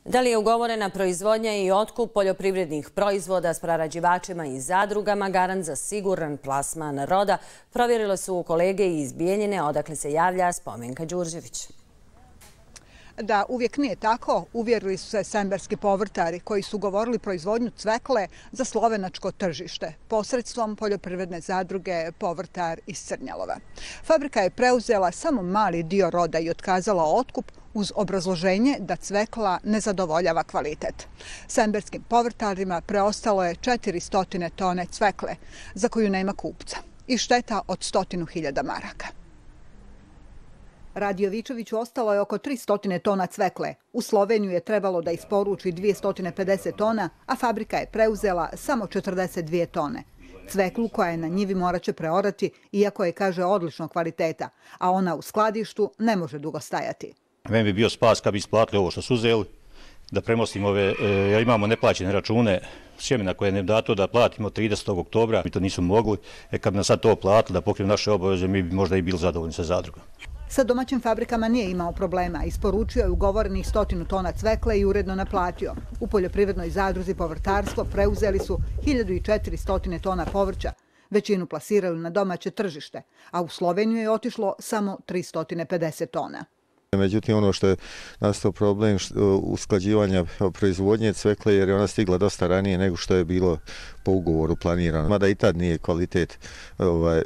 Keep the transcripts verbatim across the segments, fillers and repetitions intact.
Da li je ugovorena proizvodnja i otkup poljoprivrednih proizvoda s prerađivačima i zadrugama garant za siguran plasman roda, provjerile su kolege iz Bijeljine, odakle se javlja Spomenka Đurđević. Da uvijek nije tako, uvjerili su se semberski povrtari koji su ugovorili proizvodnju cvekle za slovenačko tržište posredstvom poljoprivredne zadruge Povrtar iz Crnjalova. Fabrika je preuzela samo mali dio roda i otkazala otkup uz obrazloženje da cvekla ne zadovoljava kvalitet. Semberskim povrtarima preostalo je četiristo tone cvekle za koju nema kupca i šteta od stotinu hiljada maraka. Radiovićeviću ostalo je oko tristo tona cvekle. U Sloveniju je trebalo da isporuči dvjesto pedeset tona, a fabrika je preuzela samo četrdeset dvije tone. Cveklu koja je na njivi morat će preorati, iako je, kaže, odličnog kvaliteta, a ona u skladištu ne može dugo stajati. Meni bi bio spas kad bi isplatili ovo što su uzeli, da premostimo ove, jer imamo neplaćene račune sjemena koje je ne dato da platimo tridesetog oktobra, mi to nisu mogli, e kad bi nam sad to platili da pokrijemo naše obaveze, mi bi možda i bili zadovoljni sa zadrugom. Sa domaćim fabrikama nije imao problema, isporučio je ugovorenih stotinu tona cvekle i uredno naplatio. U poljoprivrednoj zadruzi Povrtarstvo preuzeli su hiljadu četiristo tona povrća, većinu plasirali na domaće tržište, a u Sloveniju je otišlo samo tristo pedeset tona. Međutim, ono što je nastao problem usklađivanja proizvodnje cvekle, jer je ona stigla dosta ranije nego što je bilo po ugovoru planirano. Mada i tad nije kvalitet ovaj,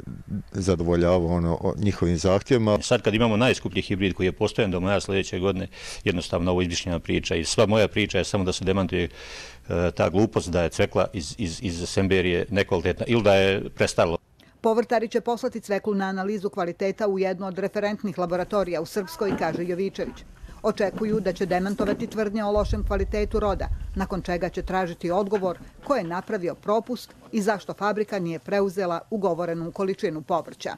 zadovoljavao ono, njihovim zahtjevima. Sad kad imamo najskuplji hibrid koji je postojan do maja sljedeće godine, jednostavno ovo izmišljena priča i sva moja priča je samo da se demantuje e, ta glupost da je cvekla iz, iz, iz Semberije nekvalitetna ili da je prestarilo. Povrtari će poslati cveklu na analizu kvaliteta u jednu od referentnih laboratorija u Srpskoj, kaže Jovićević. Očekuju da će demantovati tvrdnje o lošem kvalitetu roda, nakon čega će tražiti odgovor ko je napravio propust i zašto fabrika nije preuzela ugovorenu količinu povrća.